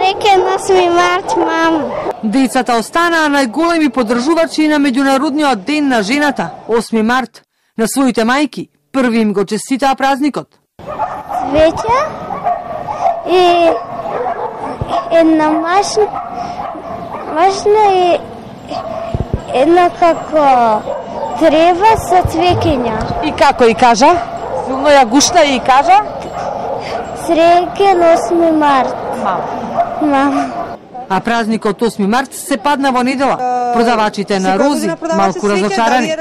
Среќен 8 март, мамо. Децата останаа најголеми поддржувачи на Меѓународниот ден на жената, 8 март. На своите мајки први им го честитаа празникот. Цвеќа и една машина и една како трева со цвеќиња. И како и кажа? Силно ја гушна и кажа? Среќен 8 март. Мама. А празникот 8 март се падна во недела. Продавачите на рози малку разочарани.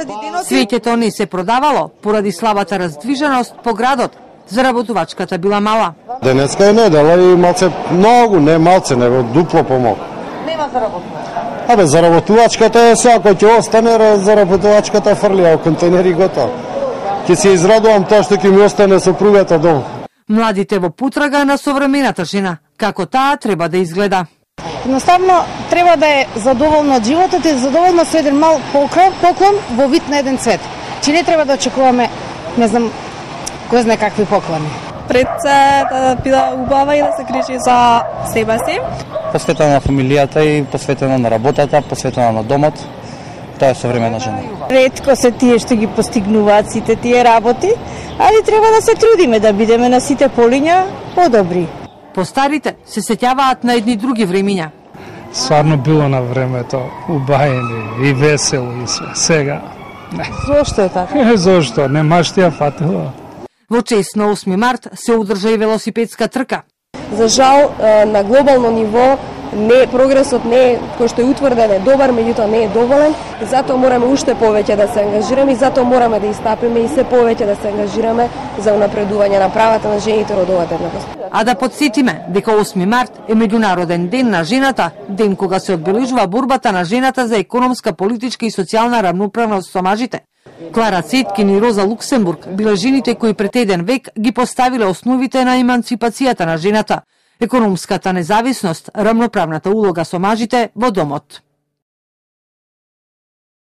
Свеќето не се продавало поради слабата раздвиженост по градот. Заработувачката била мала. Денеска е недела и малце многу, не малце, него дупло помалку. Нема заработувачка. Абе, заработувачката е сега, кој ќе остане, заработувачката фрлија во контейнери готово. Ќе се израдувам тоа што ќе ми остане сопругата дома. Младите во потрага на современата жена, како таа треба да изгледа. Едноставно треба да е задоволна од животот и задоволна со еден мал поклон во вид на еден цвет. Че не треба да очекуваме, не знам, кој знае какви поклони. Пред се да биде убава и да се грижи за себе си. Посветена на фамилијата и посветена на работата, посветена на домот. Тоа е современа жена. Ретко се тие што ги постигнуваат сите тие работи, али треба да се трудиме да бидеме на сите полиња подобри. Постарите се сеќаваат на едни други времиња. Стварно било на времето убајени и весело и све. Сега не. Зошто е така? Зошто? Немаш ти ја фатила. Во чест на 8 март се одржа и велосипедска трка. За жал, на глобално ниво прогресот не е, кој што е утврден, е добар, меѓутоа не е доволен. И затоа мораме уште повеќе да се ангажираме и затоа мораме да истапиме и се повеќе да се ангажираме за унапредување на правата на жените, родовата еднаквост. А да подсетиме дека 8 март е Меѓународен ден на жената, ден кога се одбележува борбата на жената за економска, политичка и социјална рамноправност со мажите. Клара Цеткин и Роза Луксембург биле жените кои пред еден век ги поставиле основите на еманципацијата на жената, економската независност, рамноправната улога со мажите во домот.